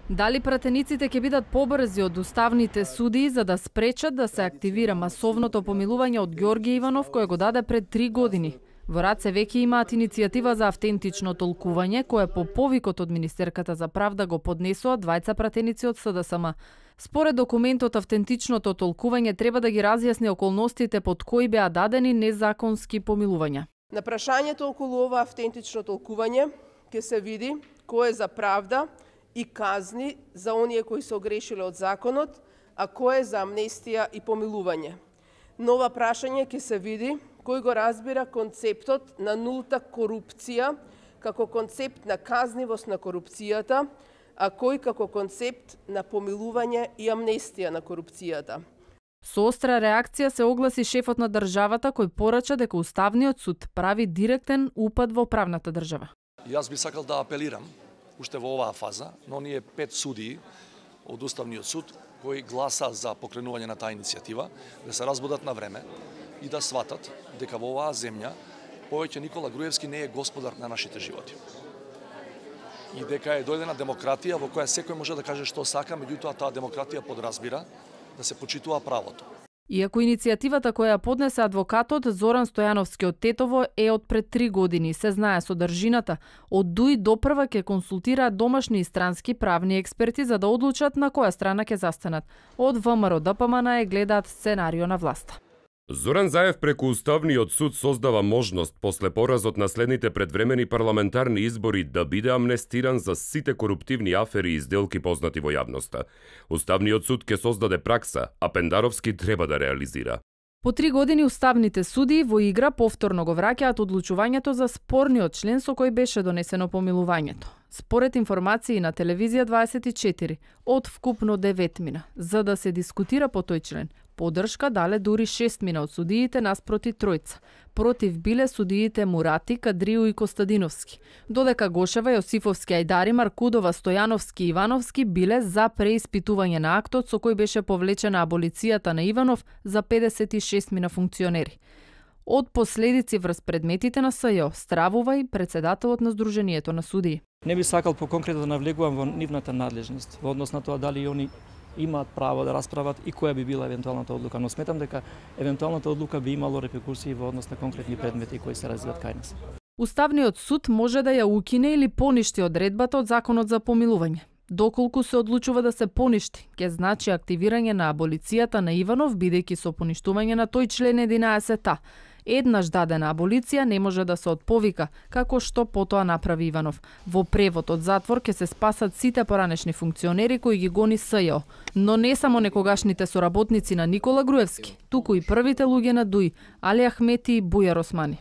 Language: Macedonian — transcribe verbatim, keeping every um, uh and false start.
Дали пратениците ќе бидат побрзи од уставните судии за да спречат да се активира масовното помилување од Ѓорѓе Иванов кој го даде пред три години? Во Раце веќе имаат иницијатива за автентично толкување, кое по повикот од Министерката за правда го поднесоа двајца пратеници од С Д С М. Според документот, автентичното толкување треба да ги разјасни околностите под кои беа дадени незаконски помилувања. На прашањето околу ова автентично толкување ќе се види кој е за правда и казни за оние кои се огрешиле од законот, а кој е за амнестија и помилување. На ова прашање ќе се види кој го разбира концептот на нулта корупција како концепт на казнивост на корупцијата, а кој како концепт на помилување и амнестија на корупцијата. Со остра реакција се огласи шефот на државата кој порача дека Уставниот суд прави директен упад во правната држава. Јас би сакал да апелирам уште во оваа фаза на оние пет судии од Уставниот суд кои гласа за покренување на таа иницијатива да се разбудат на време и да сватат дека во оваа земја повеќе Никола Груевски не е господар на нашите животи. И дека е дојдена демократија во која секој може да каже што сака, меѓутоа таа демократија подразбира да се почитува правото. Иако иницијативата која поднесе адвокатот Зоран Стојановски од Тетово е од пред три години, се знае содржината, од Дуи допрва ќе консултираат домашни и странски правни експерти за да одлучат на која страна ќе застанат. Од В М Р Д П М Н е гледаат сценарио на власта. Зоран Заев преку Уставниот суд создава можност после поразот на следните предвремени парламентарни избори да биде амнестиран за сите коруптивни афери и сделки познати во јавноста. Уставниот суд ќе создаде пракса, а Пендаровски треба да реализира. По три години уставните судии во игра повторно го враќаат одлучувањето за спорниот член со кој беше донесено помилувањето. Според информации на телевизија дваесет и четири, од вкупно девет мина, за да се дискутира по тој член. Подршка дале дури шест мина од судиите наспроти тројца. Против биле судиите Мурати, Кадриу и Костадиновски. Додека Гошева, Јосифовски, Ајдари, Маркудова, Стојановски и Ивановски биле за преиспитување на актот со кој беше повлечена аболицијата на Иванов за педесет и шест мина функционери. Од последици врз предметите на С Ј О стравува и председателот на Сдруженијето на судии. Не би сакал по конкретно да навлегувам во нивната надлежност, во однос на тоа дали они имаат право да расправат и која би била евентуалната одлука, но сметам дека евентуалната одлука би имало репрекурсии во однос на конкретни предмети кои се развиваат кај нас. Уставниот суд може да ја укине или поништи одредбата од законот за помилување. Доколку се одлучува да се поништи, ќе значи активирање на аболицијата на Иванов, бидејќи со поништување на тој член единаесет а. Еднаш дадена аболиција не може да се отповика, како што потоа направи Иванов. Во превод од затвор ќе се спасат сите поранешни функционери кои ги гони С Ј О, но не само некогашните соработници на Никола Груевски, туку и првите луѓе на Дуи, Али Ахмети и Бујар Османи.